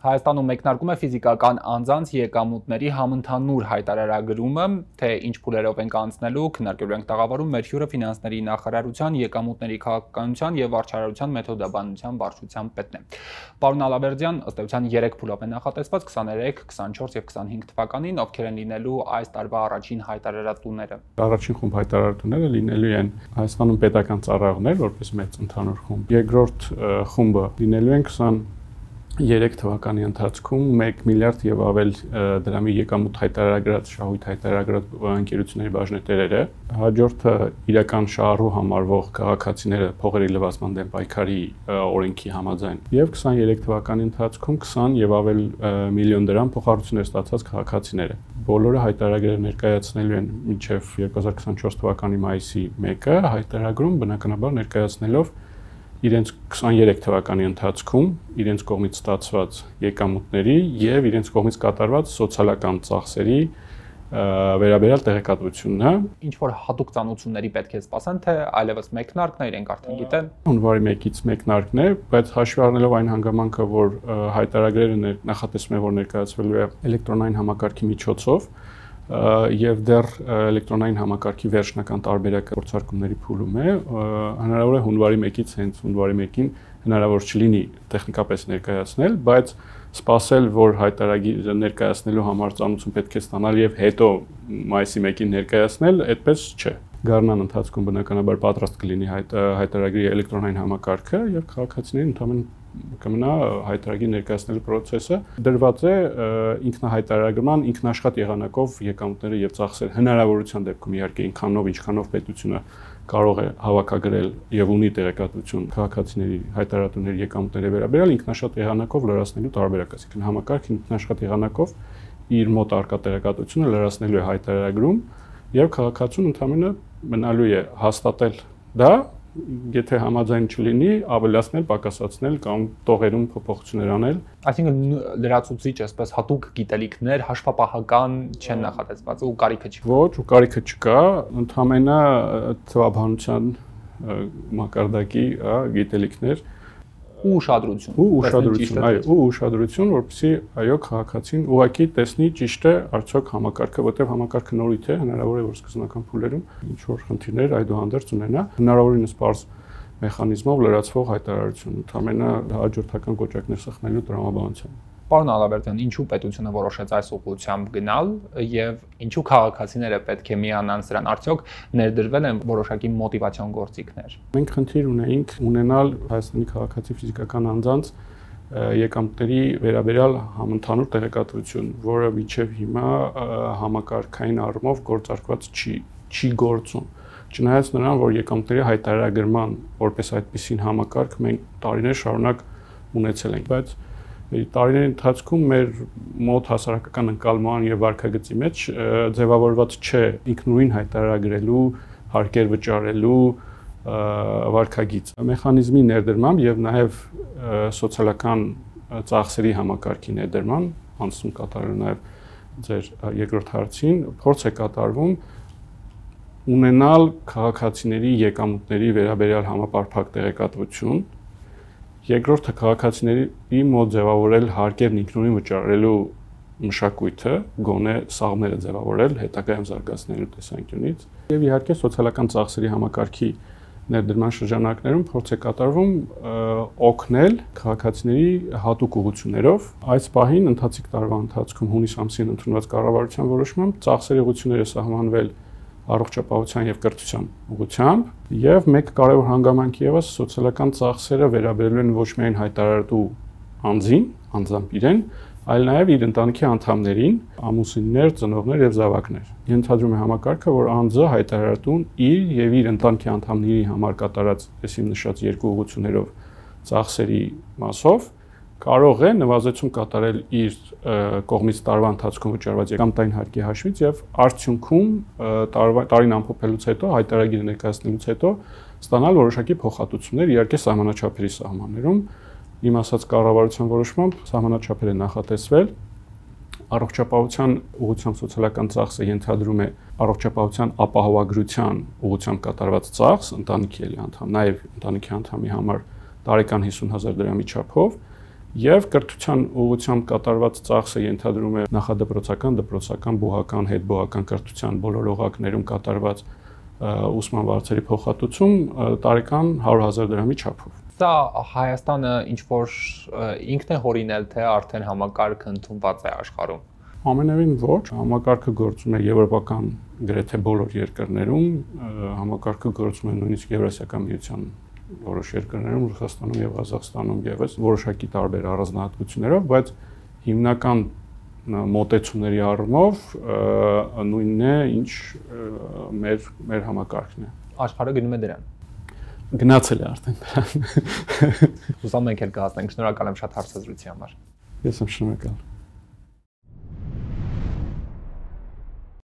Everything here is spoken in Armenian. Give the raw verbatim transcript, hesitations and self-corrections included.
Հայաստանում մեկնարկում է ֆիզիկական անձանց եկամուտների համընդհանուր հայտարարագրումը, թե ինչ փուլերով ենք անցնելու, քննարկելու ենք տաղավարում մեր հյուրը ֆինանսների նախարարության, եկամուտների քաղաքականության եւ վարչարարության մեթոդաբանության վարչության պետն է։ Պարոն Ալավերդյան, ըստ էության երեք փուլով է նախատեսված քսաներեք, քսանչորս եւ քսանհինգ թվականին, ովքեր են լինելու այս տարվա առաջին հայտարարատուները։ Առաջին խումբ հայտարարատուները լինելու են Հայաստանում պետական ծառայողներ, որպես մեծ ընդհանուր խումբ։ Երկրորդ խումբը լինելու են քսաներեք թվականի ընթացքում մեկ միլիարդ եւ ավել դրամի եկամուտ հայտարարագրած շահույթ հայտարարագրած ընկերությունների բաժնետերերը, հաջորդը իրական շահառու համարվող քաղաքացիները փողերի լվացման դեմ պայքարի օրենքի համաձայն եւ քսաներեք թվականի ընթացքում քսան եւ ավել միլիոն դրամ փոխհարցություններ ստացած քաղաքացիները։ Բոլորը հայտարարները ներկայացնելու են մինչեւ երկու հազար քսանչորս թվականի մայիսի մեկը, հայտարարագրում բնականաբար ներկայացնելով իրենց քսաներեք թվականի ընթացքում իրենց կողմից ստացված եկամուտների եւ իրենց կողմից կատարված սոցիալական ծախսերի վերաբերյալ տեղեկատվությունը։ Ինչ որ հատուկ ծանոթությունների պետք է սպասեն, թե այլևս մեկնարկն է, իրենք արդեն գիտեն։ Հունվարի մեկից մեկնարկն է, բայց հաշվի առնելով այն հանգամանքը, որ հայտարարները նախատեսվում է, որ ներկայացվելու է էլեկտրոնային համակարգի միջոցով, եւ դեռ էլեկտրոնային համակարգի վերջնական տարբերակը փորձարկումների փուլում է, հնարավոր է հունվարի մեկից հենց հունվարի մեկին հնարավոր չլինի տեխնիկապես ներկայացնել, բայց սպասել, որ հայտարարագիրը ներկայացնելու համար ծանոթություն պետք է ստանալ եւ հետո մայիսի մեկին ներկայացնել, այդպես չէ։ Գարնան ընթացքում բնականաբար պատրաստ կլինի հայտարարագրի էլեկտրոնային համակարգը եւ քաղաքացիներին ընդհանրապես կմնա հայտարարագիր ներկայացնելու process-ը դրված է ինքնահայտարարագրման ինքնաշխատ եղանակով եկամուտները եւ ծախսերը հնարավորության դեպքում իհարկե ինքանով ինչքանով պետությունը կարող է հավաքագրել եւ ունի տեղեկատվություն քաղաքացիների հայտարարատուների եկամուտների վերաբերյալ ինքնաշխատ եղանակով լրացնելու տարբերակ, այսինքն համակարգը ինքնաշխատ եղանակով իր մոտ արկա տեղեկատվությունը լրացնելու է հայտարարագրում եւ քաղաքացուն ընդհանրապես մնալու է հաստատել դա, եթե համաձայն չլինի, ավելացնել, պակասացնել կամ տողերում փոփոխություններ անել։ Այսինքն լրացուցիչ, այսպես հատուկ գիտելիքներ հաշվապահական չեն նախատեսված ու կարիքը չկա։ Ոչ, ու կարիքը չկա, ընդհանրապես թվաբանության մակարդակի գիտելիքներ ու ուշադրություն։ Ու ուշադրություն, այո, ու ուշադրություն, որպեսզի այո քաղաքացին ուղղակի տեսնի ճիշտ է արդյոք համակարգը, որտեղ համակարգը նորից է, հնարավոր է որ սկզբնական փուլերում ինչ որ խնդիրներ այդուհանդերձ ունենա, հնարավորինս բարձ մեխանիզմով լրացվող հայտարարություն, ընդհանրապես հաջորդական կոճակներ սխնելու տրամաբանությամբ։ Պարոն Ալավերդյան, ինչու պետությունը որոշեց այս ուղղությամբ գնալ եւ ինչու քաղաքացիները պետք է միանան սրան, արդյոք ներդրվել են որոշակի մոտիվացիոն գործիքներ։ Մենք խնդիր ունեինք ունենալ Հայաստանի քաղաքացի ֆիզիկական անձանց եկամուտների վերաբերյալ համընդհանուր տեղեկատվություն, որը մինչև հիմա համակարգային առումով գործարկված չի, չի գործում։ Չնայած նրան, որ եկամուտների հայտարարագրման որպես այդպիսին համակարգ մենք տարիներ շարունակ ունեցել ենք, բայց տարիների ընթացքում մեր մոտ հասարակական ընկալման եւ վարքագծի մեջ ձևավորված չէ ինքնուրույն հայտարարագրելու, հարկեր վճարելու վարքագիծ։ Մեխանիզմի ներդրմամբ եւ նաեւ սոցիալական ծախսերի համակարգի ներդրման, անցում կատարելու նաեւ ձեր երկրորդ հարցին, փորձ է կատարվում ունենալ քաղաքացիների եկամուտների վերաբերյալ համապարփակ տեղեկատվություն։ Երկրորդը քաղաքացիների մոտ ձևավորել հարկերն ինքնուրույն վճարելու մշակույթը, գոնե սաղմերը ձևավորել հետագայում զարգացնելու տեսանկյունից եւ իհարկե սոցիալական ծախսերի համակարգի ներդրման շրջանակներում փորձ է կատարվում օգնել քաղաքացիների հատուկ ուղղություններով։ Այս պահին ընթացիկ տարվա ընթացքում հունիս ամսին ընդունված կառավարության որոշմամբ ծախսերի ուղղությունները սահմանվել առողջապահության եւ կրթության ուղղությամբ եւ մեկ կարևոր հանգամանք եւս սոցիալական ծախսերը վերաբերելու են ոչ միայն հայտարարատու անձին, անձամբ իրեն, այլ նաեւ իր ընտանիքի անդամներին, ամուսիններ, ծնողներ եւ զավակներ։ Ենթադրում է համակարգը, որ անձը հայտարարատուն իր եւ իր ընտանիքի անդամների համար կատարած այսին նշած երկու ուղղություններով ծախսերի մասով կարող է նվազեցում կատարել իր կողմից տարվա ընթացքում վճարված եկամտային հարկի հաշվից եւ արդյունքում տարին ամփոփելուց հետո հայտարարագիրը ներկայացնելուց հետո ստանալ որոշակի փոխհատուցումներ իհարկե սահմանաչափերի սահմաններում իմ ասած կառավարության որոշմամբ սահմանաչափեր է նախատեսվել առողջապահության ուղղությամբ սոցիալական ծախսը ենթադրում է առողջապահության ապահովագրության ուղղությամբ կատարված ծախս ընտանիքի անդամ նաեւ ընտանիքի անդամի համար տարեկան հիսուն հազար դրամի չափով Եվ կրթության ուղղությամբ կատարված ծախսը ենթադրում է նախադպրոցական, դպրոցական, բուհական, հետբուհական կրթության բոլոր օղակներում կատարված ուսման վարձերի փոխհատուցում տարեկան հարյուր հազար դրամի չափով։ Սա Հայաստանը ինչ որ ինքն է հորինել, թե արդեն համակարգը ընդունված է աշխարհում։ Ամենևին ոչ, համակարգը գործում է եվրոպական գրեթե բոլոր երկրներում, համակարգը գործում է նույնիսկ Եվրասիական միության որոշ երկրներում, Ռուսաստանում եւ Ղազախստանում եւս որոշակի տարբեր առանձնահատկություններով, բայց հիմնական մոտեցումների առումով նույնն է, ինչ մեր մեր համակարգն է։ Աշխարհը գնում է դրան։ Գնացել է արդեն դրան։ Հուսամ մենք էլ կհասնենք։ Շնորհակալ եմ շատ հարցազրույցի համար։ Ես եմ շնորհակալ։